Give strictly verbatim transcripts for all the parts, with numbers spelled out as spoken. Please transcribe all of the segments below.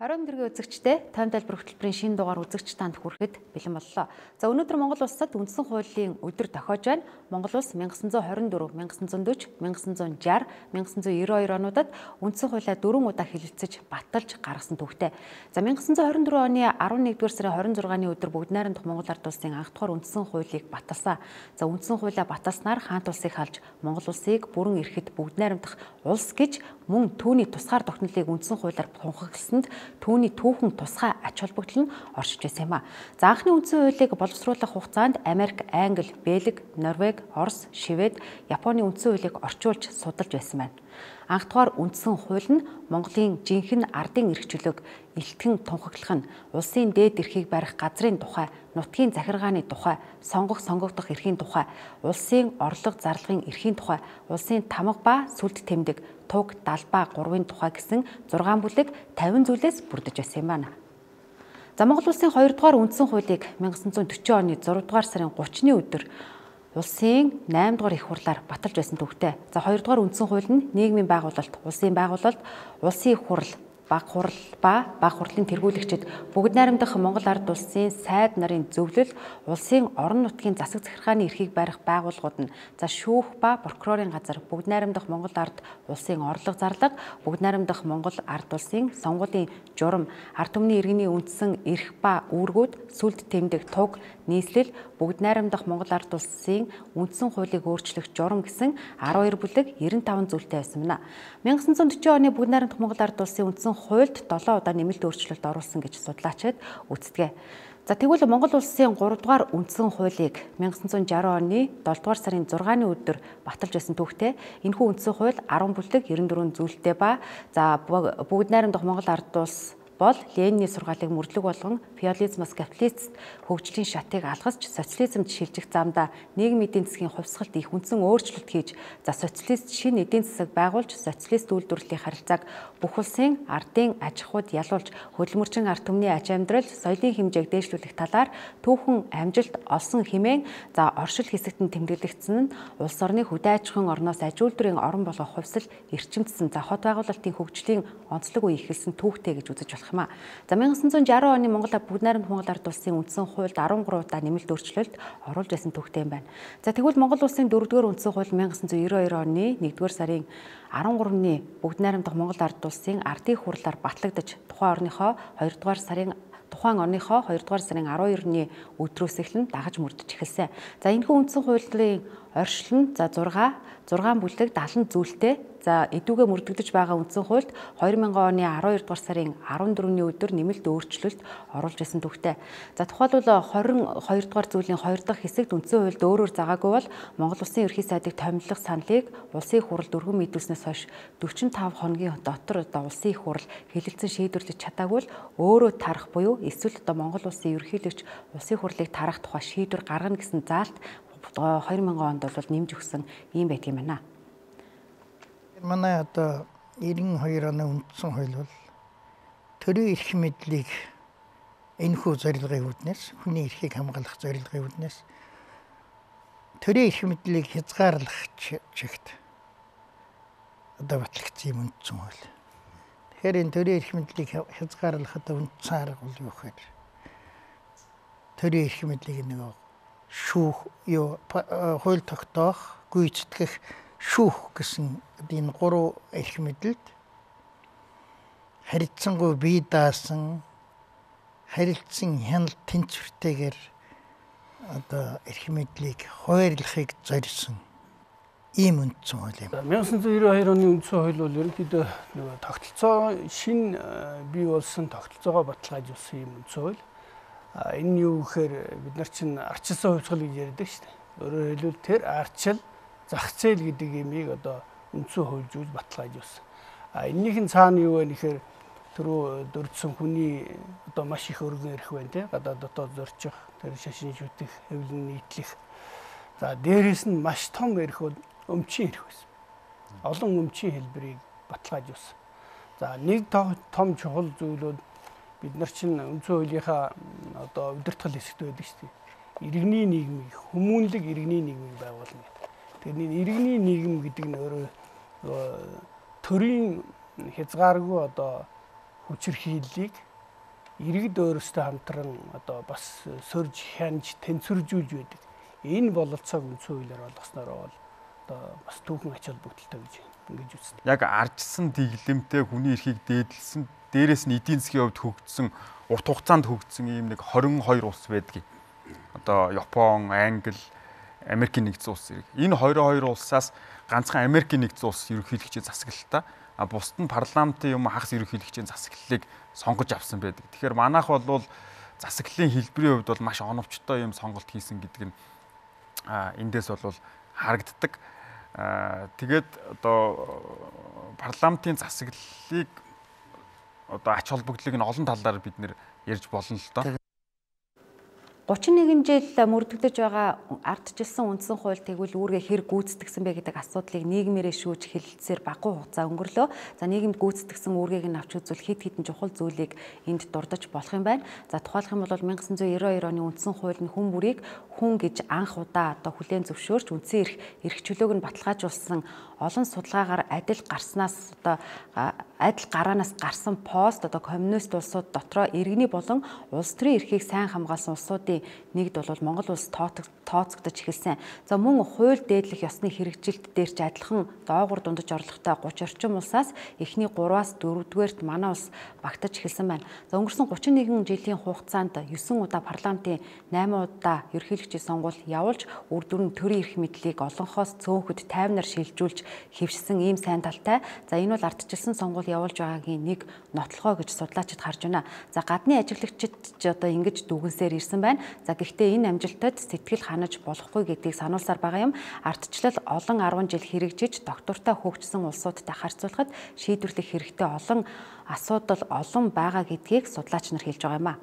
Хорон дэргийн үзэгчтэй тойм тайлбар хөтөлбөрийн шинэ дугаар үзэгч танд хүрэхэд бэлэн боллоо. За өнөөдөр Монгол улсад үндсэн хуулийн өдөр тохиож байна. Монгол улс мянга санаа хорин дөрөв, мянга санаа дөрвөн, мянга санаа жаахан, мянга санаа девяносто хоёр онуудад үндсэн хуулиа дөрвөн удаа хэлэлцэж баталж гаргасан төвхтэй. За мянга санаа хорин дөрвөн оны арван нэгдүгээр сарын хорин зургааны өдөр бүгд найрамдах Монгол ард улсын анх дахь үндсэн хуулийг баталсан. За үндсэн хуулиа баталснаар хаант улсыг халж Монгол улсыг бүрэн эрхэт бүгд найрамдах улс гэж мөн түүний тусгаар тогтнолыг үндсэн хуулиар тунхагласанд түүний түүхэн тусгай ач холбогдол нь оршиж байсан юм а. За анхны үндсэн хуулийг боловсруулах хугацаанд Америк, Англи, Бельги, Норвеги, Орос, Швед, Японы үндсэн хуулийг орчуулж судалж байсан байна. Анх дугаар үндсэн хууль нь Монголын жинхэнэ ардын эрх чөлөөг илтгэн тунхаглах нь улсын дээд эрхийг барих газрын тухай, нутгийн захиргааны тухай, сонгох сонгогдох эрхийн тухай, улсын орлого зарлагын эрхийн тухай, улсын тамга ба сүлд тэмдэг, туг, далбаа, гурвын тухай гэсэн зургаан бүлэг тавин зүйлээс бүрдэж байсан юм байна. За Монгол улсын хоёрдугаар үндсэн хуулийг мянга санаа дөрвөн оны зургаадугаар сарын гуравчны өдөр улсын наймдугаар их хурлаар баталж байсан төвхтэй. За хоёрдугаар үндсэн хууль нь нийгмийн байгуулалт, улсын байгуулалт, улсын их хурл, баг хурл ба баг хурлын тэргүүлэгчид бүгд найрамдах Монгол ард улсын сайд нарын зөвлөл, улсын орон нутгийн засаг захиргааны эрхийг барих байгууллагууд нь за шүүх ба прокурорын газар, бүгд найрамдах Монгол ард улсын орлого зарлага, бүгд найрамдах Монгол ард улсын сонгуулийн журам, ард түмний иргэний үндсэн эрх ба үүргүүд, сүлд тэмдэг, туг, нийслэл, бүгд найрамдах Монгол ард улсын үндсэн хуулийг өөрчлөх журам гэсэн арван хоёр бүлэг девяносто таван зүйлтэй байсан байна. мянга санаа дөрвөн оны бүгд найрамдах Монгол ард улсын үндсэн хуульд долоон удаа нэмэлт өөрчлөлт оруулсан гэж судлаачид үздэг. За тэгвэл Монгол улсын гурав дугаар үндсэн хуулийг мянга санаа шарван оны долдугаар сарын зургааны өдөр баталж байсан түүхтэй. Энэхүү үндсэн хууль арван бүлэг девяносто дөрвөн зүйлтэй ба за бүгд найрамдах Монгол ард улс бол Ленины сургаалыг мөрдлөг болгон феодализмоос капиталист хөгжлийн шатыг алгасч социализмд шилжих замдаа нийгмийн эдийн засгийн хувьсгалт их үндсэн өөрчлөлт хийж за социалист шинэ эдийн засаг байгуулж социалист үйлдвэрлэлийн харилцааг бүх улсын ардын аж ахуйд ялуулж хөдөлмөрчин ард түмний аж амьдрал, соёлын хэмжээг дээшлүүлэх талаар түүхэн амжилт олсон хэмээн за оршил хэсэгт нь тэмдэглэгдсэн нь улс орны хөдөө аж ахуйн орноос аж үйлдвэрийн орон болгох хувьсэл эрчимдсэн за хот байгуулалтын хөгжлийн онцлог үе эхэлсэн түүхтэй гэж үзэж болох юм а. За мянга санаа шарван оны Монгол бүгд найрамдах Монгол ард улсын үндсэн хуульд арван гурван удаа нэмэлт өөрчлөлт оруулж байсан түүхтэй юм байна. За тэгвэл Монгол улсын дөрөвдүгээр үндсэн хууль мянга санаа девяносто хоёр оны нэгдүгээр сарын арван гуравны бүгд найрамдах Монгол ард улсын ардын хурлаар батлагдаж тухайн орныхоо хоёрдугаар сарын тухайн оныхоо хоёрдугаар сарын арван хоёрны өдрөөс эхлэн дагаж мөрдөж эхэлсэн. За энэхүү үндсэн хуулийн оршил нь за зураг зургаан бүлэг даалан зүйлтэй за эдүүгээ мөрдөгдөж байгаа үндсэн хуульд хоёр мянган оны арван хоёр дугаар сарын арван дөрөвний өдөр нэмэлт өөрчлөлт оруулж байсан түүхтэй. За тухайлбал хорин хоёр дугаар зүйлийн хоёр дахь хэсэгт үндсэн хуульд өөрөөр заагаагүй бол Монгол Улсын ерхий сайдыг томилох саналыг улсын их хурл дөрвөн мэдүүлснээс хойш дөрвөн таван хоногийн дотор одоо улсын их хурл хэлэлцэн шийдвэрлэж чадаагүй л өөрөө тарах буюу эсвэл одоо Монгол Улсын ерөнхийлөгч улсын хурлыг тарах тухай шийдвэр гаргана гэсэн заалт хоёр мянган онд бол нэмж өгсөн юм байдаг юм байна. Манай одоо девяносто хоёр оны үндсэн хууль бол төрийн эрх мэдлийг энэхүү зорилгын үүднээс хүний эрхийг хамгаалах зорилгын үүднээс төрийн эрх мэдлийг хязгаарлах чигт одоо батлагдсан юм үндсэн хууль. Тэгэхээр энэ төрийн эрх мэдлийг хязгаарлах одоо үндсэн арга бол юу гэхээр төрийн эрх мэдлийг нэг шүүх юу хууль тогтоох, гүйцэтгэх, шүүх гэсэн энэ гурван эрх мэдэлд харилцангуй бие даасан харилцсан хяналт тэнцвэртэйгээр одоо эрх мэдлийг хуваарлахыг зорьсон ийм үндсэн хууль юм. мянга санаа девяносто хоёр оны үндсэн хууль бол ерөнхийдөө нөгөө тогтолцоо шин бий болсон тогтолцоогоо баталгаажуулсан юм үндсэн хууль. Энэ нь юу гэхээр бид нар чинь арчилсан хувьсгал гэж ярьдаг шүү дээ. Өөрөөр хэлбэл тэр арчил зах зээл гэдэг юмыг одоо үндсэн хуульжуулж баталгаажуулсан. А эннийх нь цаана юу вэ гэхээр түрүү дурдсан хүний одоо маш их өргөн эрх байна тий. Гадаад дотоод зорчих, тэр шашин шүтэх, хэвлэн нийтлэх. За дээрээс нь маш том эрх бол өмчийн эрх байсан. Олон өмчийн хэлбэрийг баталгаажуулсан. За нэг том чухал зүйл бол бид нар чинь үндсэн хуулийнхаа одоо удирдгал хэсэгт байдаг шүү дээ. Иргэний нийгмийг, хүмүүнлэг иргэний нийгмийг байгуулна гэдэг. Тэгэхээр иргэний нийгэм гэдэг нь өөрөө төрийн хязгааргүй одоо хүчирхийллийг иргэд өөрөөсөө хамтран одоо бас сөрж хянж тэнцвэржүүлж байдаг. Энэ бололцоог үндсэн хуулиар болгосноор бол одоо бас түүхэн ач холбогдолтой гэж ингэж үздэг. Яг арчсан дэглэмтэй хүний эрхийг дээдлсэн, дээрээс нь эдийн засгийн хувьд хөгжсөн, урт хугацаанд хөгжсөн ийм нэг хорин хоёр улс байдгийг. Одоо Япон, Англи, Америкийн нэгдсэн улс зэрэг. Энэ хоёр хоёр улсаас ганцхан Америкийн нэгдсэн улс ерөнхийлөгчийн засаглалтаа, а бусд нь парламентын юм хагас ерөнхийлөгчийн засаглалыг сонгож авсан байдаг. Тэгэхээр манайх бол засаглалын хэлбэрийн хувьд бол маш оновчтой юм сонголт хийсэн гэдэг нь эндээс бол харагддаг. Тэгээд одоо парламентын засаглалыг одоо ач холбогдлыг нь олон талаар бид нэр ярьж болно л доо. гучин нэгэн жил мөрдөглөж байгаа ардчилсан үндсэн хууль тэгвэл үүргээ хэр гүйцэтгэсэн бэ гэдэг асуудлыг нийгмээрээ шүүж хэлэлцээр багуу хугацаа өнгөрлөө. За нийгэмд гүйцэтгэсэн үүргийг нь авч үзвэл хэд хэдэн чухал зүйлийг энд дурдж болох юм байна. За тухайлх юм бол 천구 девяносто хоёр оны үндсэн хууль нь хүн бүрийг хүн гэж анх удаа одоо хүлээн зөвшөөрч үндсэн эрх эрх чөлөөг нь баталгаажуулсан олон судалгаагаар адил гарснаас одоо адил гараанаас гарсан пост одоо коммунист улсууд дотроо иргэний болон улс төрийн эрхийг сайн хамгаалсан улсуудын нэгд бол Монгол улс тооцогдож эхэлсэн. За мөн хууль дээдлэх ёсны хэрэгжилт дээр ч адилхан доогуур дундаж орлоготой гучин орчим улсаас эхний гураваас дөрөвдүгээрт манай улс багтаж эхэлсэн байна. За өнгөрсөн гучин нэгэн жилийн хугацаанд есөн удаа парламентын найман удаа ерөнхийлөгчийн сонгуул явуулж үр дүн төрийн эрх мэдлийг олонхоос цөөнхөд тайвнаар шилжүүлж хэвшсэн ийм сайн талтай. За энэ бол ардчилсан сонгуул явуулж байгаагийн нэг нотлохоо гэж судлаачид харж байна. За гадны ажиглагчид ч одоо ингэж дүгнсээр ирсэн байна. За гэхдээ энэ амжилтад сэтгэл ханаж болохгүй гэдгийг сануулсаар байгаа юм. Ардчлал олон арван жил хэрэгжиж доктортой хөгжсөн улсуудтай харьцуулахад шийдвэрлэх хэрэгтэй олон асуудал олон байгаа гэдгийг судлаач нар хэлж байгаа юм а.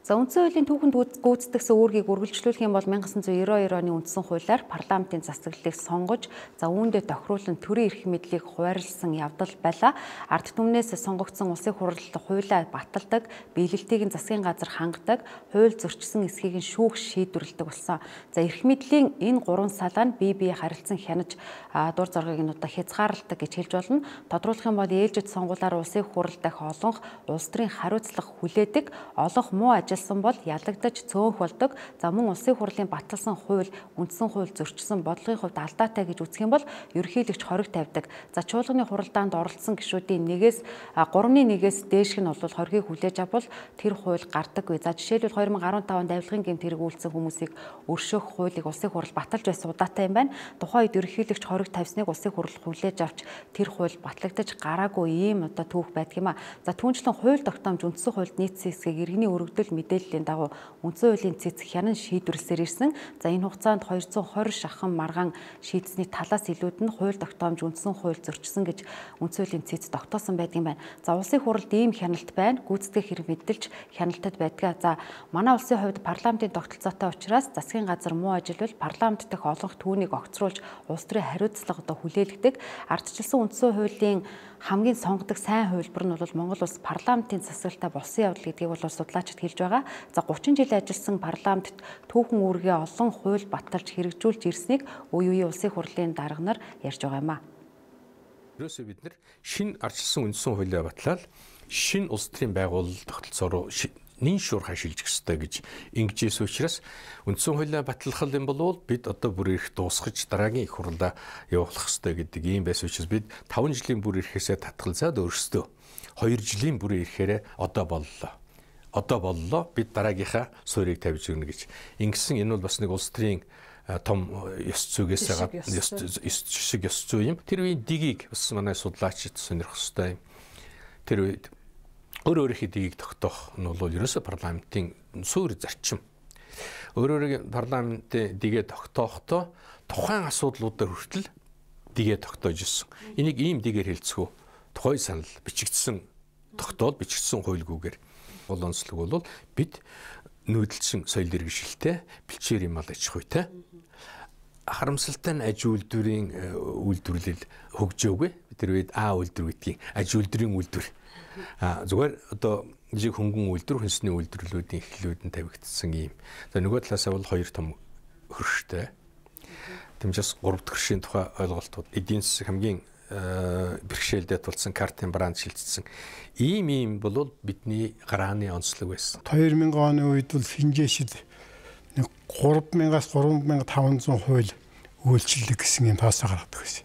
За үндсэн хуулийн түүхэнд гүйцэтгсэн үүргийг үргэлжлүүлэх юм бол 천구 девяносто хоёр оны үндсэн хуулиар парламентын засаглалыг сонгож, за үүндээ тохируулан төрийн эрх мэдлийг хуваарлсан явдал байлаа. Ард түмнээс сонгогдсон улсын хурал хуулиа баталдаг, биелэлтийг нь засгийн газар хангадаг, хууль зөрчсөн эсхийг нь шүүх шийдвэрлэдэг болсон. За эрх мэдлийн энэ гурван салаа нь бие бие харилцан хянаж дур зоргийг нь одоо хязгаарладаг гэж хэлж болно. Тодруулах юм бол ээлжид сонгуулиар улсын хурал дахь олонх улс төрийн хариуцлага хүлээдэг, олонх муу ажил бол ялагдаж цөөнх болдог. За мөн улсын хурлын баталсан хууль, үндсэн хууль зөрчсөн бодлогын хувьд алдаатай гэж үзэх юм бол ерөнхийлөгч хориг тавьдаг. За чуулганы хуралдаанд оролцсон гишүүдийн нэгээс гуравны нэгээс дээшг нь бол хоригийг хүлээж авбал тэр хууль гардаггүй. За жишээлбэл хоёр мың гурван таванд авилгын гэмт хэрэг үйлдсэн хүмүүсийг өршөөх хуулийг улсын хурал баталж байсан удаатай юм байна. Тухайн үед ерөнхийлөгч хориг тавьсныг улсын хурал хүлээж авч тэр хууль батлагдаж гараагүй ийм одоо түүх байдаг юм а. За түүнчлэн хууль тогтоомж үндсэн хуульд нийцсэн хэсгийг иргэний өргөдөл мэдээллийн дагуу үндсэн хуулийн цэц хянан шийдвэрлсээр ирсэн. За энэ хугацаанд хоёрдугаар хойр шахан маргаан шийдсэний талаас илүүд нь хууль тогтоомж үндсэн хууль зөрчсөн гэж үндсэн хуулийн цэц тогтоосон байдаг юм байна. За улсын хуралд ийм хяналт байна. Гүйцэтгэх хэрэг мэдэлж хяналтад байдаг. За манай улсын хувьд парламентын тогтолцоотой учраас засгийн газар муу ажиллавал парламент дэх олонх түүнийг огцруулж улс төрийн хариуцлага одоо хүлээлгдэг. Ардчилсан үндсэн хуулийн хамгийн сонгодог сайн хувилбар нь бол Монгол улс парламентын засаглалтай болсон явдал гэдгийг бол судлаачид хэлж байгаа. За гучин жил ажилласан парламентд түүхэн үүргээ олон хууль баталж хэрэгжүүлж ирснийг үе үе улсын хурлын дарга нар ярьж байгаа юм а. Ерөөсөө бид нар шинэ ардчилсан үндсэн хуулиа батлаад шинэ улс төрийн байгууллага тогтолцоо руу нэн шуурхай шилжих ёстой гэж ингэжээс учраас үндсэн хуулиа батлах юм бол бид одоо бүр их дуусгаж дараагийн их хурлаа явуулах ёстой гэдэг ийм байсан учраас бид таван жилийн бүр ирэхээсээ татгалзаад өөрсдөө хоёр жилийн бүр ирэхээрээ одоо боллоо. Одоо боллоо бид дараагийнхаа суурийг тавьж өгнө гэж. Ингэсэн энэ бол бас нэг улс төрийн том ёс зүйгээс ёс шиг ёс зүй юм. Тэр үеийн дигийг бас манай судлаачид сонирхох ёстой юм. Тэр үед өөр өөрийнхөө дигийг тогтоох нь бол ерөөсөө парламентын суурь зарчим. Өөр өөрийн парламентын дигээ тогтоохдоо тухайн асуудлуудаар хүртэл дигээ тогтоож ирсэн. Энийг ийм дигээр хэлцгүү. Тухай санал бичигдсэн тогтоол бичигдсэн хуульгүйгээр гол онцлог бол бид нүүдэлчин соёл иргэншилтэй бэлчээр юм ал аж ахуйтай харамсалтай нь аж үйлдвэрийн үйлдвэрлэл хөгжөөгүй. Тэр үед А үйлдвэр гэдгийг аж үйлдвэрийн үйлдвэр зүгээр одоо жиг хөнгөн үйлдвэр, хүнсний үйлдвэрлэлүүдийн эхлэлүүд нь тавигдсан юм. За нөгөө талаасаа бол хоёр том хөрштэй. Тэмцээс гурав дахь хөршийн тухай ойлголтууд эдийн засаг хамгийн бэрхшээлдээ тулсан картын бранд шилжсэн. Ийм ийм бол бидний гарааны онцлог байсан. хоёр мянган оны үед бол хинжээшид гурав мянгаас гурван мянга таван зуун хууль үйлчлэг гэсэн юм тоосоо гаргадаг байсан.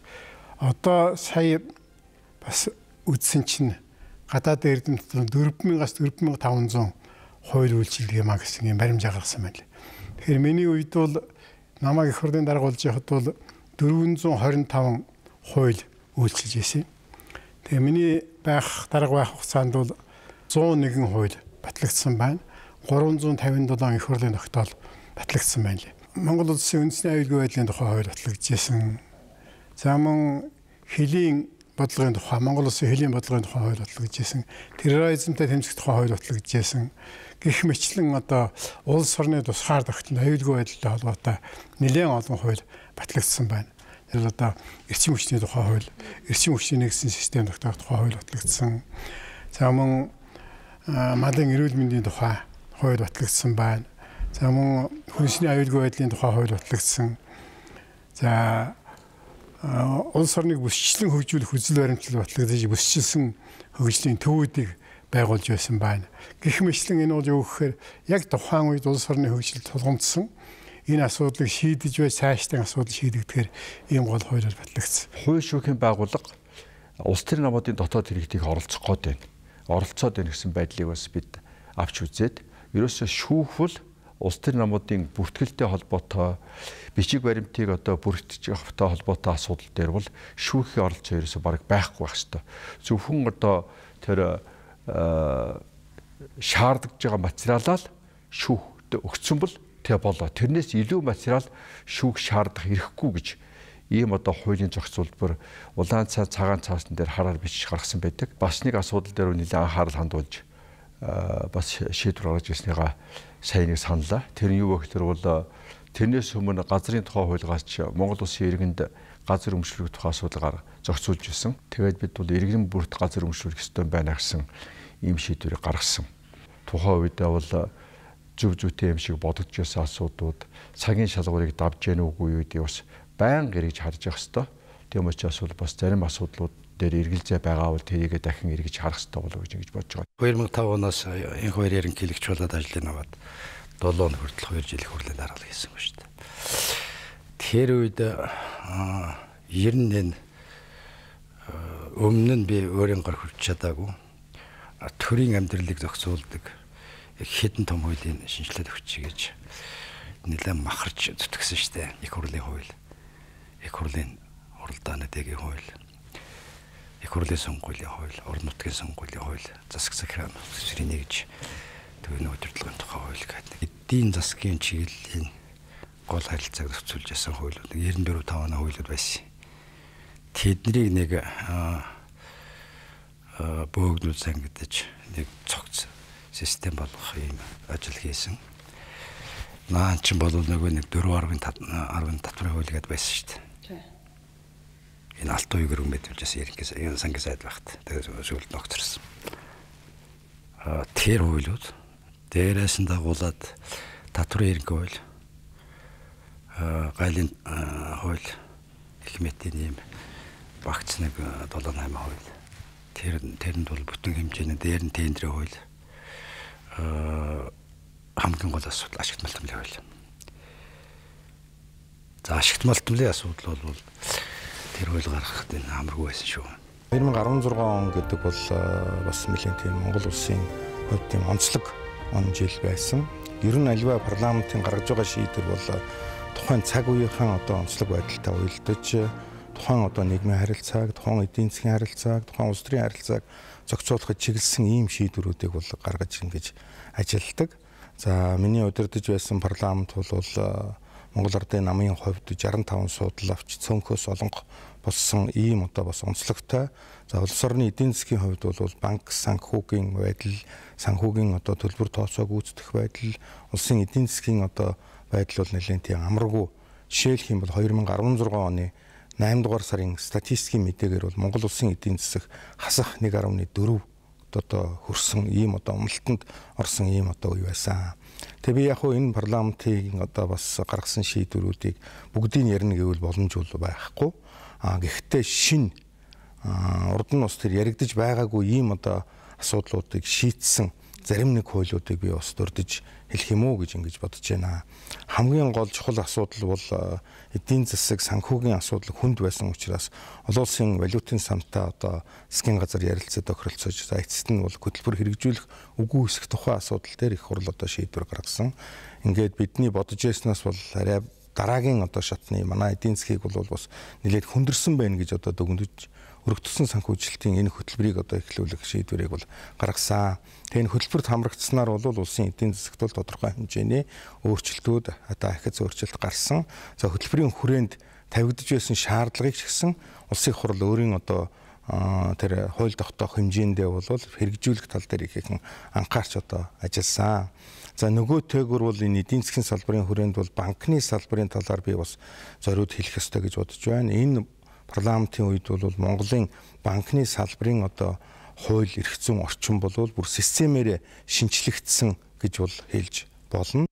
Одоо сая бас үдсэн чинь гадаад эрдэмт дөрвөн мянгаас дөрвөн мянга таван зуун хууль үйлчлэг юмаа гэсэн юм баримжаа гаргасан байна. Тэгэхээр миний үед бол намайг их хурлын дарга болж байхад бол дөрвөн зуун хорин таван хууль үйлчилж байсан. Тэгээ миний байх дарга байх хугацаанд бол зуун нэгэн хууль батлагдсан байна. гурван зуун тавин долоо их хурлын тогтоол батлагдсан байна. Монгол улсын үндэсний аюулгүй байдлын тухай хууль батлагдчихсэн. За мөн хилийн бодлогын тухай, Монгол улсын хилийн бодлогын тухай хууль батлагдчихсэн. Терроризмтай тэмцэх тухай хууль батлагдчихсэн. Гэх мэтлэн одоо улс орны тусгаар тогтнол аюулгүй байдалтай холбоотой нэлээд олон хууль батлагдсан байна. Тэр одоо эрчим хүчний тухай хууль, эрчим хүчний нэгдсэн систем тогтоох тухай хууль батлагдсан. За мөн малын эрүүл мэндийн тухай хууль батлагдсан байна. За мөн хүнсний аюулгүй байдлын тухай хууль батлагдсан. За улс орныг бүсчлэн хөгжүүлэх үзэл баримтлал батлагдаж бүсчилсэн хөгжлийн төвүүдийг байгуулж байсан байна. Гэх мэтлэн энэ бол юу гэхээр яг тухайн үед улс орны хөгжил тулгамдсан энэ асуудлыг шийдэж бай цаашдын асуудал шийдэгдэхээр ийм гол хуулиар батлагдсан. Хууль шүүхийн байгууллага улс төрийн намуудын дотоод хэрэгтийг оролцох гээд байна. Оролцоод байна гэсэн байдлыг бас бид авч үзээд ерөөсөө шүүхвөл улс төрийн намуудын бүртгэлтэй холбоотой бичиг баримтыг одоо бүртгэж явахтай холбоотой асуудал дээр бол шүүхийн оролцоо ерөөсөө бараг байхгүй байх ёстой. Зөвхөн одоо тэр шаардж байгаа материалаа л шүүхт өгсөн бол тэ болоо. Тэрнээс илүү материал шүүх шаардах эрхгүй гэж ийм одоо хуулийн зохицуулбар улаан цаа цагаан цаасан дээр хараар бичиж гаргасан байдаг. Бас нэг асуудал дээр нэлээд анхаарал хандуулж бас шийдвэр гаргаж ирснийгаа сайн нэг саналаа. Тэр нь юу вэ гэхээр бол тэрнээс өмнө газрын тухай хуулиас Монгол улсын иргэнд газар өмчлөх тухай асуудал зохицуулж ирсэн. Тэгээд бид бол иргэн бүрт газар өмчлөх ёстой байна гэсэн ийм шийдвэрийг гаргасан. Тухайн үедээ бол зөв зүйтэй юм шиг бодогдож байсан асуудлууд цагийн шалгуурыг давж яах үгүй үедээ бас байнга эргэж харж явах ёстой. Тийм учраас бол бас зарим асуудлууд дээр эргэлзээ байгаа бол тэрийгэ дахин эргэж харах ёстой болов гэж ингэж бодож байгаа. хоёр мянган таван оноос энэ хоёр ерөнхийлөгч болоод ажлыг аваад долоо он хүртэл хоёр жил их хурлын даргалал хийсэн ба шүү дээ. Тэр үед ер нь энэ өмнө нь би өөрийн гар хүрч чадаагүй төрийн амьдралыг зохицуулдаг хэдэн том хуулийн шинжилгээ өгчий гэж нэлээд махарч зүтгэсэн шүү дээ. Их хурлын хууль, их хурлын хуралдааны дэгийн хууль, их хурлын сонгуулийн хууль, орон нутгийн сонгуулийн хууль, засаг захиргааны төсвийн нэгж төвийн удирдлагын тухай хууль гэдэг. Эдийн засгийн чиглэлийн гол харилцааг зохицуулж ясан хуулиуд девяносто четыре таван хуулиуд байсан. Тэднийг нэг бөөгнүүл сангидаж нэг цогц систем болгох юм ажил хийсэн. Наа чин бол нөгөө нэг дөрвөн арван татварын хууль гэдээ байсан шүү дээ. Энэ алт уу гэрэг мэдвчээс ерөнхийдөө энэ сангийн сайд багт. Тэгээд сүүлд ногцорсон. А тэр хуулиуд дээрээс нь дагуулад татварын ерөнхий хууль, гайлын хууль, их мэтийн юм багц нэг долоо наймаа хууль. Тэр тэрэнд бол бүтэн хэмжээний дээр нь тендерийн хууль. Хамгийн гол асуудал ашигт малтмлын хууль. За ашигт малтмлын асуудал бол тэр хууль гаргахад энэ амаргүй байсан шүү. хоёр мянган арван зургаан он гэдэг бол бас нэлээд тийм Монгол улсын хувьд тийм онцлог он жил байсан. Ер нь альва парламентын гаргаж байгаа шийдвэр бол тухайн цаг үеийнхэн одоо онцлог байдалтай уялдаж тухайн одоо нийгмийн харилцааг, тухайн эдийн засгийн харилцааг, тухайн улс төрийн харилцааг зохицуулахад чиглэсэн ийм шийдвэрүүдийг бол гаргаж ингэж ажилладаг. За миний удирдах байсан парламент бол Монгол Ардын намын хувьд шестьдесят пять суудлал авч цөөнхөөс олонх болсон ийм одоо бас онцлогтой. За улс орны эдийн засгийн хувьд бол банк санхүүгийн байдал, санхүүгийн одоо төлбөр тооцоог үүсгэх байдал, улсын эдийн засгийн одоо байдал бол нэлээд тийм амаргүй. Жишээлх юм бол хоёр мянган арван зургаан оны найман дугаар сарын статистикийн мэдээгээр бол Монгол улсын эдийн засаг хасах нэг гаруй дөрөв одоо хөрсөн ийм одоо умалтанд орсон ийм одоо үе байсан. Тэгээ би яг хуу энэ парламентын одоо бас гаргасан шийдвэрүүдийг бүгдийг ярина гэвэл боломж бол байхгүй. А гэхдээ шин урд нь ус тэр яригдж байгаагүй ийм одоо асуудлуудыг шийдсэн зарим нэг хуулиудыг би бас дурдж хэлэх юм уу гэж ингэж бодож байна. Хамгийн гол чухал асуудал бол эдийн засаг санхүүгийн асуудал хүнд байсан учраас олон улсын валютын сантай одоо засгийн газар ярилцаад тохиролцож за эцэст нь бол хөтөлбөр хэрэгжүүлэх үгүй хэсэх тухай асуудал дээр их хурл одоо шийдвэр гаргасан. Ингээд бидний бодож байснаас бол арай дараагийн одоо шатны манай эдийн засгийг бол бас нэлээд хүндэрсэн байна гэж одоо дүгнэж өргөдсөн санхүүжилтийн энэ хөтөлбөрийг одоо эхлүүлэх шийдвэрийг бол гаргасан. Тэгээ энэ хөтөлбөрт хамрагдсанаар бол улсын эдийн засагт бол тодорхой хэмжээний өөрчлөлтүүд одоо ахиц өөрчлөлт гарсан. За хөтөлбөрийн хүрээнд тавигдж байсан шаардлагыг ч гэсэн улсын хурл өөрийн одоо тэр хууль тогтоох хэмжээндээ бол хэрэгжүүлэх тал дээр ихэнх анхаарч одоо ажилласан. За нөгөө төөгөр бол энэ эдийн засгийн салбарын хүрээнд бол банкны салбарын талаар би бас зориуд хэлэх ёстой гэж бодож байна. Энэ парламентын үед бол Монголын банкны салбарын одоо хууль эрх зүйн орчин бол бүр системээр шинчлэгдсэн гэж бол хэлж болно.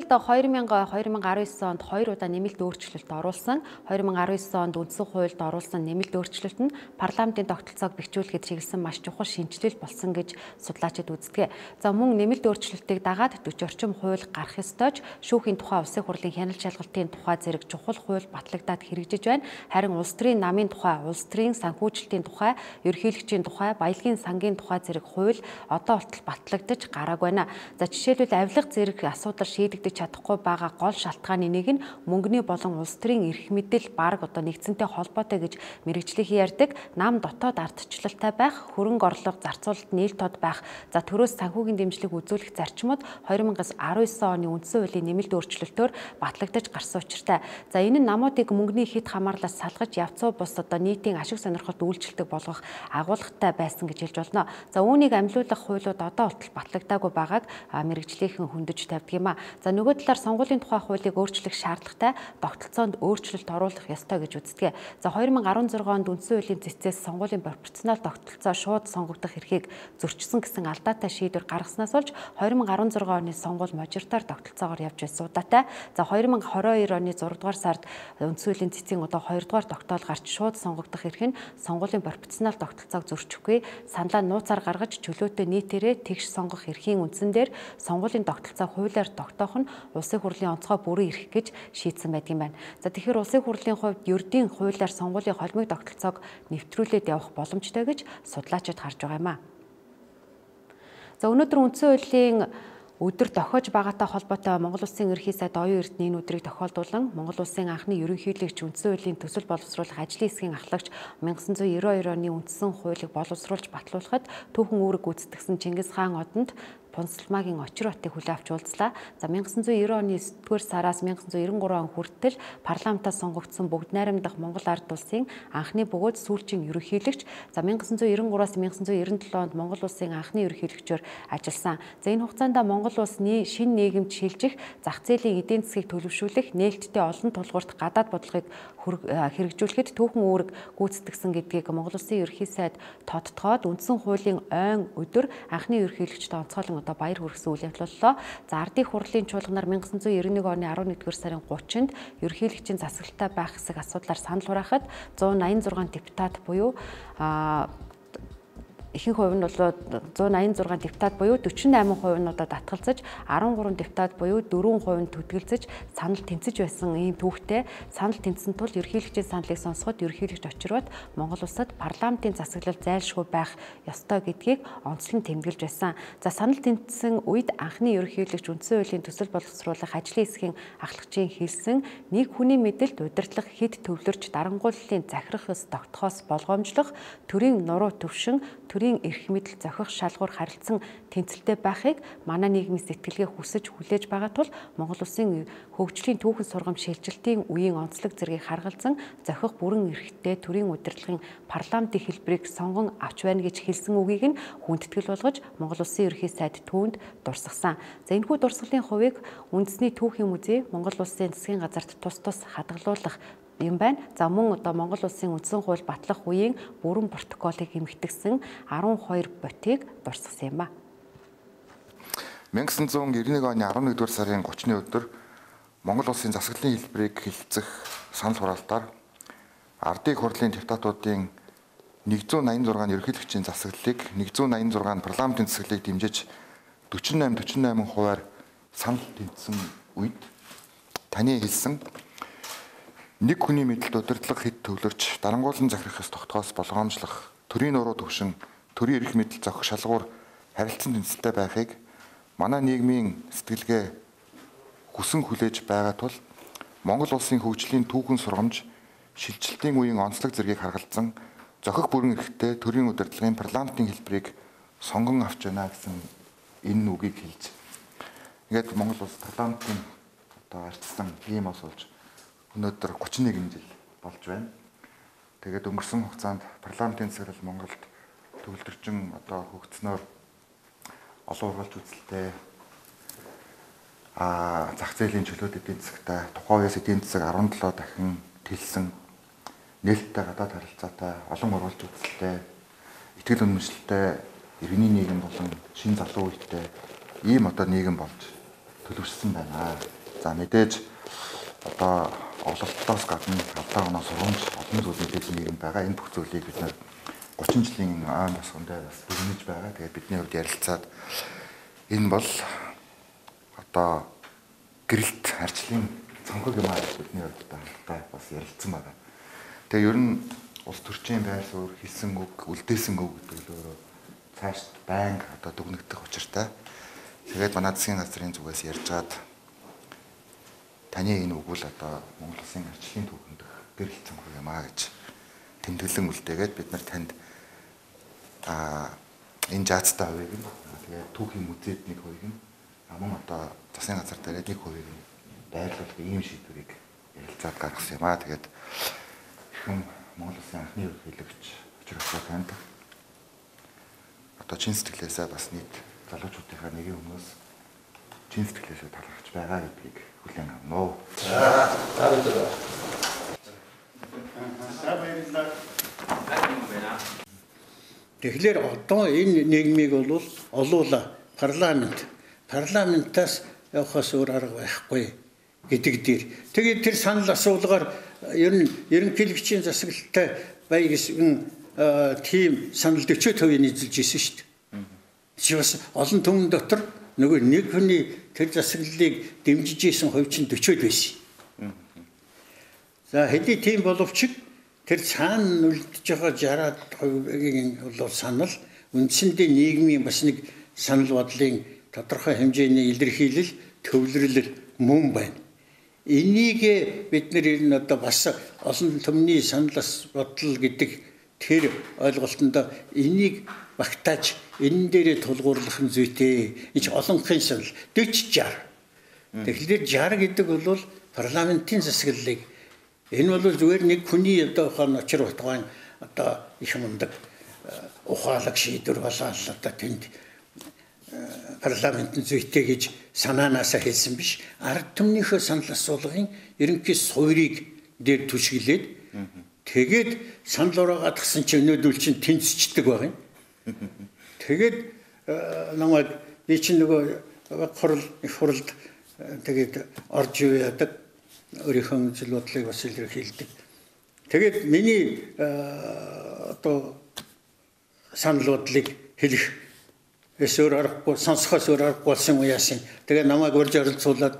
хоёр мянга хоёр мянга арван девять онд хоёр удаа нэмэлт өөрчлөлт оруулсан. хоёр мянга арван девять онд үндсэн хуульд оруулсан нэмэлт өөрчлөлт нь парламентын тогтолцоог бэхжүүлэхэд чиглэсэн маш чухал шинжилэл болсон гэж судлаачид үздэг. За мөн нэмэлт өөрчлөлтийг дагаад дөрвөн орчим хууль гарах ёстой ч шүүхийн тухай улсын хурлын хяналт шалгалтын тухай зэрэг чухал хууль батлагдаад хэрэгжиж байна. Харин улс төрийн намын тухай, улс төрийн санхүүжилтийн тухай, ерөнхийлөгчийн тухай, баялагын сангийн тухай зэрэг хууль одоо болтол батлагдаж гараагүй байна. За жишээлбэл авилга зэрэг асуудал шийдэгдэж чадахгүй байгаа гол шалтгааны нэг нь мөнгөний болон улс төрийн эрх мэдэл бараг одоо нэгдсэнтэй холбоотой гэж мэрэгжлийн ярьдаг. Нам дотоод ардчлалтай байх, хөрөнгө орлого зарцуулалт нийл тод байх, за төрөөс санхүүгийн дэмжлэг үзүүлэх зарчмууд хоёр мянга арван девять оны үндсэн хуулийн нэмэлт өөрчлөлтөөр батлагдаж гарсан учиртай. За энэ нь намуудыг мөнгөний хит хамаарлаас салгаж явцуу бус одоо нийтийн ашиг сонирхолд үйлчлдэг болгох агуулгатай байсан гэж хэлж болно. За үүнийг амлиулах хуулиуд одоо болтол батлагдаагүй байгааг мэрэгжлийнхэн хөндөж тавьдаг юм а. За нөгөө талаар сонгуулийн тухай хуулийг өөрчлөх шаардлагатай тогтолцоонд өөрчлөлт оруулах ёстой гэж үздэг. За хоёр мянга арван зургаан онд үндсэн хуулийн цэцээс сонгуулийн пропорционал тогтолцоо шууд сонгогдох эрхийг зөрчсөн гэсэн алдаатай шийдвэр гаргаснаас болж хоёр мянга арван зургаан оны сонгуул мажоритар тогтолцоогоор явж байсан удаатай. За хоёр мянга двадцать хоёр оны зураг дугаар сард үндсэн хуулийн цэцийн одоо хоёр дугаар тогтоол гарч шууд сонгогдох эрх нь сонгуулийн пропорционал тогтолцоог зөрчихгүй саналаа нууцаар гаргаж чөлөөтэй нийтээрээ тэгш сонгох эрхийн үндсэн дээр сонгуулийн тогтолцоог хуулиар тогтоох нь улсын хурлын онцгой бүрэн эрх гэж шийдсэн байдаг юм байна. За тэгэхээр улсын хурлын хувьд ердийн хуулиар сонгуулийн холбоог тогтолцоог нэвтрүүлээд явах боломжтой гэж судлаачид харж байгаа юм а. За өнөөдөр үндсэн хуулийн өдөр тохиож байгаатай холбоотой Монгол Улсын ерөнхий сайд оюун эрдэнэ энэ өдрийг тохиолдуулан Монгол Улсын анхны ерөнхийлөгч үндсэн хуулийн төсөл боловсруулах ажлын хэсгийн ахлагч 천ги девяносто хоёр оны үндсэн хуулийг боловсруулж батлуулахад түүхэн үүрэг гүйцэтгэсэн Чингис хаан одонд Пунсалмаагийн очир хотыг хүлээн авч уулзлаа. За 천ги девяносто оны есдүгээр сараас 천ги девяносто три он хүртэл парламентаас сонгогдсон бүгд найрамдах Монгол ард улсын анхны бөгөөд сүүлчийн ерөнхийлөгч. За 천ги девяносто три-аас 천ги девяносто девяносто онд Монгол улсын анхны ерөнхийлөгчөөр ажилласан. За энэ хугацаанд Монгол улсны шинэ нийгэмд шилжих, зах зээлийн эдийн засгийг төлөвшүүлэх, нээлттэй олон тулгуурт гадаад бодлогыг хэрэгжүүлэхэд түүхэн үүрэг гүйцэтгэсэн гэдгийг Монгол Улсын ерөнхий сайд тодтогоод үндсэн хуулийн ойн өдөр анхны ерөнхийлөгчд онцгойлон одоо баяр хүргэсэн үйл явдал боллоо. За ардын хурлын чуулганаар 천ги девяносто девять оны арван нэгдүгээр сарын гуравчнд ерөнхийлөгчийн засаглалтай байх хэсэг асуудлаар санал хураахад зуун аян зургаан депутат буюу ихэнх хувь нь бол зуун аян зургаан депутат буюу дөрвөн восемь хувь нь одоо татгалзаж арван гурван депутат буюу дөрвөн хувь нь төдгөлзөж санал тэнцэж байсан ийм түүхтэй. Санал тэнцсэн тул ерөнхийлөгчийн саналыг сонсоход ерөнхийлөгч очирвот Монгол улсад парламентын засаглал зайлшгүй байх ёстой гэдгийг онцлон тэмдэглэж байсан. За санал тэнцсэн үед анхны ерөнхийлөгч үндсэн хуулийн төсөл боловсруулах ажлын хэсгийн ахлагчийн хэлсэн нэг хүний мэдэлд удирдлах хэд төвлөрч дарангууллын захирах ёс тогтохоос болгоомжлох төрийн нуруу төвшин төрийн эрх мэдэл зохих шалгуур харилцан тэнцэлтэй байхыг манай нийгмийн сэтгэлгээ хүсэж хүлээж байгаа тул Монгол Улсын хөгжлийн түүхэн сургамж шилжилтийн үеийн онцлог зэргийг харгалзан зохих бүрэн эрхтэй төрийн удирдлагын парламентын хэлбэрийг сонгон авч байна гэж хэлсэн үгийг нь хүндэтгэл болгож Монгол Улсын ерөнхий сайд түүнд дурсгасан. За энэхүү дурсгалын хувийг үндэсний түүхийн музей Монгол Улсын засгийн газарт тус тус хадгалуулах юм байна. За мөн одоо Монгол Улсын үндсэн хууль батлах үеийн бүрэн протоколыг эмхтгсэн арван хоёр ботыг дурсгасан юм ба. 천구백구십일 оны elevenduгаар сарын thirty-ны өдөр Монгол улсын засаглалын хэлбэрийг хэлэлцэх санал хураалтаар ардын хурлын депутатуудын one eighty-six ерөнхийлөгчийн засаглалыг one eighty-six парламентын засаглалыг дэмжиж forty-eight forty-eight хувиар санал тэнцсэн үед таны хэлсэн нэг хүний мэдэлд удирдлага хэд төвлөрч дарангуулан захирахаас тогтоос болгоомжлох төрийн нуруу төвшин төрийн эрх мэдэл зохих шалгуур харилцан тэнцэлтэй байхыг манай нийгмийн сэтгэлгээ хүсэн хүлээж байгаа тул Монгол улсын хөгжлийн түүхэн сургамж шилжилтийн үеийн онцлог зэргийг харгалзан зохих бүрэн эрхтэй төрийн удирдлагын парламентын хэлбэрийг сонгон авч байна гэсэн энэ үгийг хэлж ингээд Монгол улс парламентын одоо арчсан ийм ус болж өнөөдөр thirty-one жил болж байна. Тэгээд өнгөрсөн хугацаанд парламентын засаглал Монголд төвлөрчин одоо хөгжснөөр олон ургалж үзэлтэй а зах зээлийн чөлөөт эдийн засагтай тухайн үеэс эдийн засаг seventeen дахин тэлсэн нээлттэй гадаад харилцаатай олон ургалж үзэлтэй итгэл үнэмшилтэй иргэний нийгэм болон шин залуу үетэй ийм одоо нийгэм болж төлөвшсөн байна. За мэдээж одоо ололтоос гадна алдаа оноо сургамж олон зүйл мэдээж нийгэм байгаа. Энэ бүх зүйлийг бид нэр thirty жилийн аан тосгондоо бас дүгнэж байгаа. Тэгээд бидний хувьд ярилцаад энэ бол одоо гэрэлт арчлын цонхог юм аа бидний хувьд одоо бас ярилцсан байгаа. Тэгээ ер нь улс төрчийн байр суурь хийсэн үг, үлдээсэн үг гэдэг л өөрөө цааш байнга одоо дүгнэгдэх учиртай. Тэгээд манай засгийн газрын зүгээс ярьжгаад таны энэ үг бол одоо Монгол улсын арчлын түүхэнд гэрэлт цонхог юм аа гэж тэмдэглэн үлдээгээд бид нар танд а энэ жаацтай хувийг нь тэгээд түүхийн музейд нэг хувийг нь мөн одоо засгийн газар дээр нэг хувийг нь байрлуулах ийм шийдвэрийг ярилцаад гаргасан юм аа. Тэгээд хүн Монгол улсын анхны ерөнхийлөгч учрах танд одоо чин сэтгэлээсээ бас нийт залуучуудынхаа нэгэн хүмүүс чин сэтгэлээсээ талархаж байгаа гэдгийг хүлээн авна уу. За баярлалаа. Тэгэхээр одоо энэ нийгмийг бол олуула парламент парламентаас явахаас өөр арга байхгүй гэдэг дээр. Тэгээд тэр санал асуулгаар ер нь ерөнхийлөгчийн засаглалтай бай гэсэн тийм санал forty percent нийцүүлж ирсэн шүү дээ. Чи бас олон түмэн дотор нөгөө нэг хүний тэр засаглалыг дэмжиж исэн хувь чинь forty байсан. За хэдий тийм боловч тэр цаана үлдэж байгаа sixty хувийн бол санал үндсэндээ нийгмийн бас нэг санал бодлын тодорхой хэмжээний илэрхийлэл төвлөрлөл мөн байна. Энийг бид нэр одоо бас олон түмний саналс бодол гэдэг тэр ойлголтонд энийг багтааж энэ дээрээ тулгуурлах нь зүйтэй. Энд олонхын санал forty sixty. Тэгэхээр sixty гэдэг бол парламентын засаглалыг энэ бол зүгээр нэг хүний одоо хон очир утгаан одоо их мундаг ухаалаг шийдвэр болоод одоо тэнд парламентын зүйтэй гэж санаанаасаа хэлсэн биш. Ард түмнийхөө санал асуулгын ерөнхий суурийг дээр түшгэлээд тэгээд санал ураагаад гсэн чинь өнөөдөр чинь тэнцчдэг байгаа юм. Тэгээд намайг би чинь нөгөө хурал их хуралд тэгээд орж яадаг өөрийнхөө зүйл бодлыг бас илэрхийлдэг. Тэгээд миний одоо санал бодлыг хэлэх эсвэр аргагүй сонсохоос өөр аргагүй болсон уяасан. Тэгээд намайг урьж оролцуулаад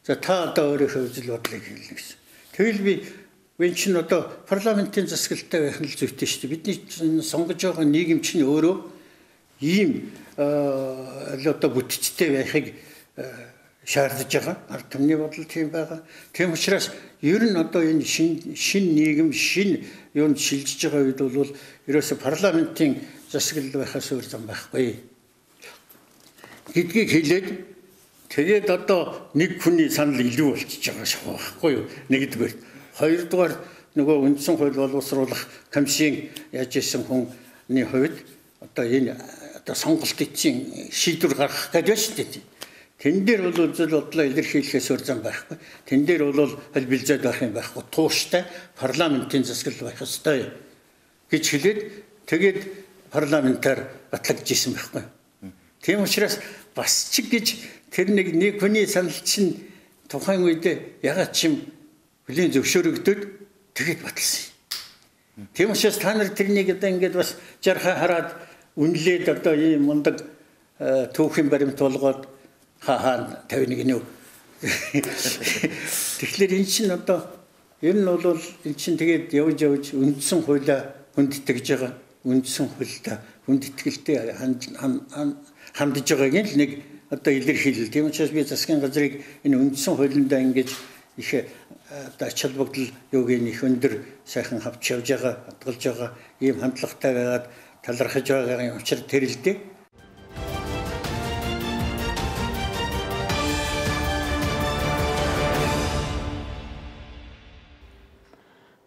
за та одоо өөрийнхөө зүйл бодлыг хэлнэ гэсэн. Тэгэл би энэ чинь одоо парламентын засаглалтай байх нь л зүйтэй шүү дээ. Бидний сонгож байгаа нийгэм чинь өөрөө ийм одоо бүтцтэй байхыг шаардж байгаа. Ард түмний бодол тийм байгаа. Тийм учраас ер нь одоо энэ шин шин нийгэм шин юунд шилжиж байгаа үед бол ерөөсө парламентын засаглал байхаас өөр зам байхгүй гэдгийг хэлээд тэгээд одоо нэг хүний санал илүү болчихж байгаа шахуу байхгүй юу? Нэгдүгээр. Хоёрдугаар нөгөө үндсэн хууль боловсруулах комиссийн яаж исэн хүний хувьд одоо энэ одоо сонголт эцсийн шийдвэр гаргах гэж шүү дээ. Тэн дээр бол үзэл бодлоо илэрхийлэхээс өөр зам байхгүй. Тэн дээр бол аль бэлзээд байх юм байхгүй. Тууштай парламентын засаглал байх ёстой гэж хэлээд тэгээд парламентаар батлагдж исэн байхгүй. Тийм учраас бас ч гэж тэр нэг нэг хүний санал чинь тухайн үед ягаад ч юм хүлийн зөвшөөрөгдөд тэгэд баталсан. Тийм учраас та нар тэрнийг одоо ингээд бас жархаа хараад үнэлээд одоо ийм мундаг түүхийн баримт болгоод хаа тавина гинөө. Тэгэхээр эн чинь одоо ер нь бол эн чинь тэгээд явж явж үндсэн хуулиа хүндэтгэж байгаа. Үндсэн хуультай хүндэтгэлтэй хандж байгааг л нэг одоо илэрхийлэл. Тийм учраас би засгийн газрыг энэ үндсэн хуулиндаа ингэж их одоо ач холбогдол юуг их өндөр сайхан авч явж байгаа, хадгалж байгаа ийм хандлагатай байгаад талархаж байгаа учраас тэр л дээ.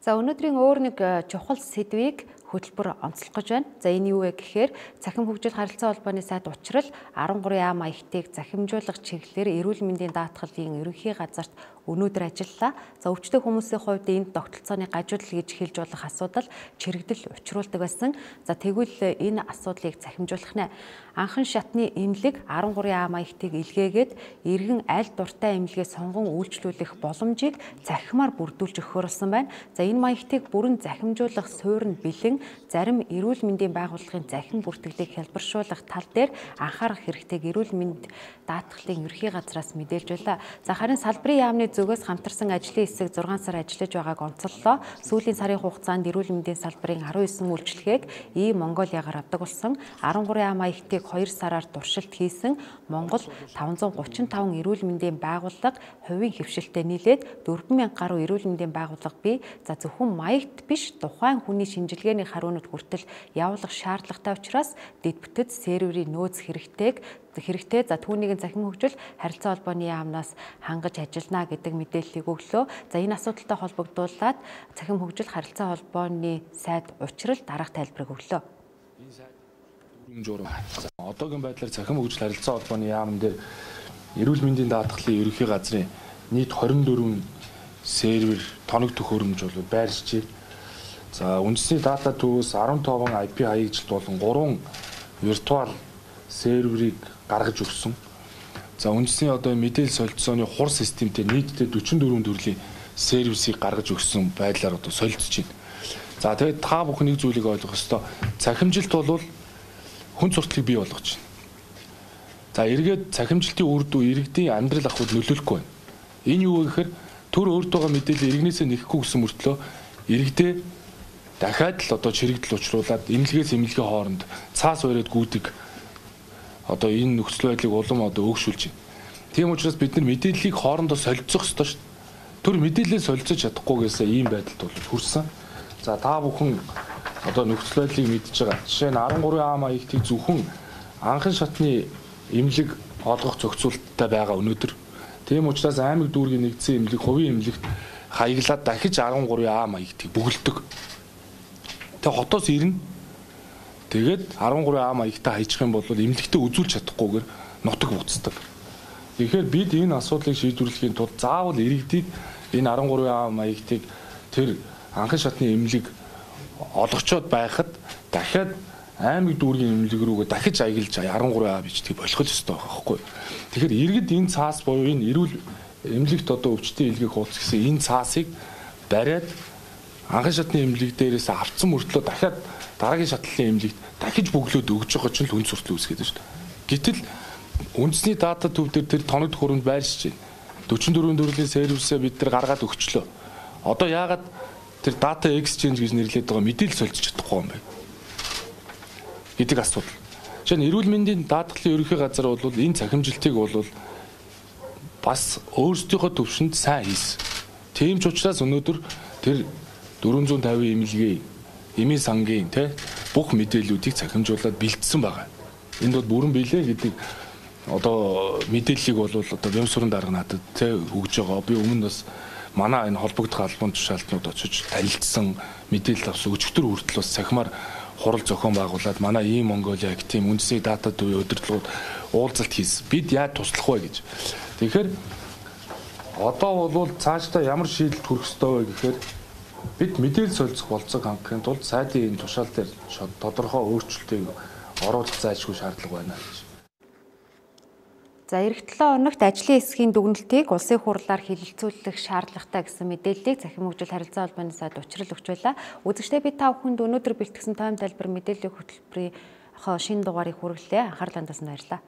За өнөөдрийн өөр нэг чухал сэдвийг хөтөлбөр онцлох гэж байна. За энэ юу вэ гэхээр цахим хөгжил харилцаа холбооны сайд Учрал арван гурван А маягтыг захимжуулах чиглэлээр эрүүл мэндийн даатгалын ерөнхий газарт өнөөдөр ажиллалаа. За өвчтөе хүмүүсийн хувьд энэ тогтолцооны гажуудал гэж хэлж болох асуудал чирэгдэл учруулдаг байсан. За тэгвэл энэ асуудлыг захимжуулах нэ. Анхан шатны эмнэлэг арван гурван А маягтыг илгээгээд иргэн аль дуртай эмнэлгээ сонгон үйлчлүүлэх боломжийг захимаар бүрдүүлж өгөхөөрсөн байна. За энэ маягтыг бүрэн захимжуулах суурь нь бэлэн зарим эрүүл мэндийн байгууллагын захин бүртгэлийг хэлбэршүүлэх тал дээр анхаарах хэрэгтэйг эрүүл мэнд даатгалын ерхий газраас мэдээлж байлаа. За харин салбарын яамны зүгээс хамтарсан ажлын хэсэг зургаан сар ажиллаж байгааг онцоллоо. Сүүлийн сарын хугацаанд эрүүл мэндийн салбарын арван девять үйлчлэгээг И Монголиагаар авдаг болсон. арван гурван А маягтыг хоёр сараар туршилт хийсэн Монгол таван зуун гучин таван эрүүл мэндийн байгууллага хувийн хөвшилтэд нийлээд дөрвөн мянга гаруй эрүүл мэндийн байгууллага бий. За зөвхөн маягт биш тухайн хүний шинжилгээний харуунууд хүртэл явуулах шаардлагатай учраас дэд бүтэц серверийн нөөц хэрэгтэйг хэрэгтэй. За түүнийг захим хөгжил харилцаа холбооны яамнаас хангаж ажиллана гэдэг мэдээллийг өглөө. За энэ асуудалтай холбогдуулаад захим хөгжил харилцаа холбооны сайд Учрал дараах тайлбарыг өглөө. Энэ сайд дөрвөн журам. Одоогийн байдлаар захим хөгжил харилцаа холбооны яамн дээр эрүүл мэндийн даатгалын ерөнхий газрын нийт хорин дөрвөн сервер тоног төхөөрөмж бол байршижээ. За үндэсний дата төвөөс арван таван ай пи хаягжилт болон гурван виртуал серверийг гаргаж өгсөн. За үндэсний одоо мэдээлэл солилцооны хур системтэй нийтдээ дөрвөн дөрвөн төрлийн сервисийг гаргаж өгсөн байдлаар одоо солилцож байна. За тэгээд та бүхэн нэг зүйлийг ойлгох ёстой. Цахимжилт бол хүн сурталчилгааг бий болгож байна. За эргээд цахимжилтын үр дүн иргэдийн амьдрал ахуйд нөлөөлөхгүй байна. Энэ юу вэ гэхээр төр өөртөөгөө мэдээлэл иргэнээсээ нэхэхгүй гэсэн мөртлөө иргэдээ дахиад л одоо чирэгдэл учруулад эмнэлгээс эмнэлгийн хооронд цаас бариад гүйдэг одоо энэ нөхцөл байдлыг улам одоо өөгшүүлж байна. Тийм учраас бид нар мэдээллийг хоорондоо солилцох ёстой шүү дээ. Төр мэдээлэлээ солилцож чадахгүйгээсээ ийм байдалд бол хүрсэн. За та бүхэн одоо нөхцөл байдлыг мэдж байгаа. Жишээ нь арван гурван А маягтыг зөвхөн анхан шатны эмнэлэг олгох зохицуулттай байгаа өнөөдөр. Тийм учраас аймаг дүүргийн нэгдсэн эмнэлэг хувийн эмнэлэгт хаяглаад дахиж арван гурван А маягтыг бүгэлдэг. Тэгээ хотоос ирнэ. Тэгээд арван гурван А маягтаа хаячих юм бол эмнэлэгтээ үзүүлж чадахгүйгээр нутаг буцдаг. Тэгэхээр бид энэ асуудлыг шийдвэрлэхийн тулд заавал иргэдийг энэ арван гурван А маягтыг тэр анхан шатны эмнэлэг олгочоод байхад дахиад аймаг дүүргийн эмнэлэг рүүгээ дахиж аялж арван гурван А бичдэг болох л ёстой байхгүй. Тэгэхээр иргэд энэ цаас буюу энэ эрүүл эмнэлэгт одоо өвчтөе илгээх хуудас гэсэн энэ цаасыг бариад анхан шатны эмнэлэг дээрээс авцсан мөртлөө дахиад дараагийн шатлалын эмнэлэгт дахиж бөглөөд өгж байгаа ч л хүн суртал үүсгээд байна шүү дээ. Гэтэл үндэсний дата төв дээр тэр тоног төхөөрөмж байршиж байна. дөрвөн дөрвөн төрлийн сервисээ бид нар гаргаад өгчлөө. Одоо яагаад тэр data exchange гэж нэрлэдэг байгаа мэдээлэл солилцож чадахгүй юм бэ гэдэг асуудал. Жишээ нь эрүүл мэндийн даатгалын ерөнхий газар бол энэ цахимжилтыг бол бас өөрсдийнхөө төвшөнд сайн хийсэн. Тийм ч учраас өнөөдөр тэр дөрвөн зуун тавин эмнэлгийн эмийн сангийн те бүх мэдээллүүдийг цахимжуулаад бэлдсэн байгаа. Энд бол бүрэн биелээ гэдэг одоо мэдээллийг бол одоо Бямсурын дарга надад те өгж байгаа. Би өмнө бас манай энэ холбогдох албан тушаалтнууд очиж танилцсан мэдээлэл авсан өчигдөр хүртэл бас цахимаар хурал зохион байгуулад манай И Монголиа гэх тийм үндэсний дата төвийн удирдлагууд уулзалт хийсэн. Бид яаж туслах вэ гэж. Тэгэхээр одоо бол цаашдаа ямар шийдэлд хүрэх ёстой вэ гэхээр бид мэдээлэл солилцох болцоог хангахын тулд сайдын энэ тушаал дээр тодорхой өөрчлөлтийг оруулах зайлшгүй шаардлага байна гэж. За эх долоо хоногт ажлын хэсгийн дүгнэлтийг улсын хурлаар хэлэлцүүлэх шаардлагатай гэсэн мэдээллийг Цахим хөгжил харилцаа холбооны сайд учрал өгч байла. Үзэгчдээ би та бүхэнд өнөөдөр бэлтгэсэн тойм тайлбар мэдээллийн хөтөлбөрийн шинэ дугаарыг хүргэлээ. Анхаарлаа хандуулсанд баярлалаа.